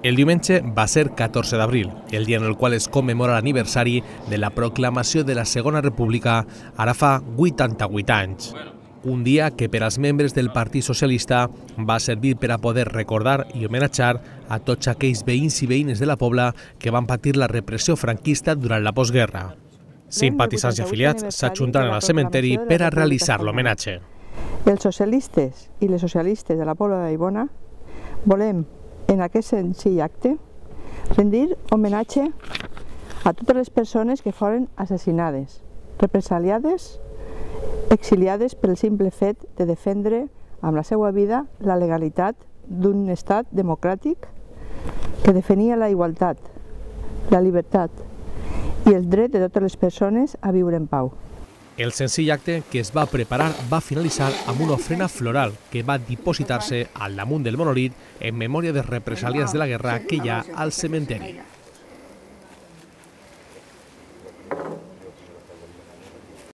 El diumenge va ser 14 d'abril, el dia en el qual es commemora l'aniversari de la proclamació de la Segona República ara fa 88 anys. Un dia que per als membres del Partit Socialista va servir per a poder recordar i homenatjar a tots aquells veïns i veïnes de la Pobla que van patir la repressió franquista durant la postguerra. Simpatitzants i afiliats s'ajuntaren al cementeri per a realitzar l'homenatge. Els socialistes i les socialistes de la Pobla de Vallbona volem, en aquest senzill acte, rendir homenatge a totes les persones que foren assassinades, represaliades, exiliades pel simple fet de defendre amb la seva vida la legalitat d'un estat democràtic que defenia la igualtat, la llibertat i el dret de totes les persones a viure en pau. El senzill acte que es va preparar va finalitzar amb una ofrena floral que va dipositar-se al damunt del monolit en memòria de represàlies de la guerra que hi ha al cementeri.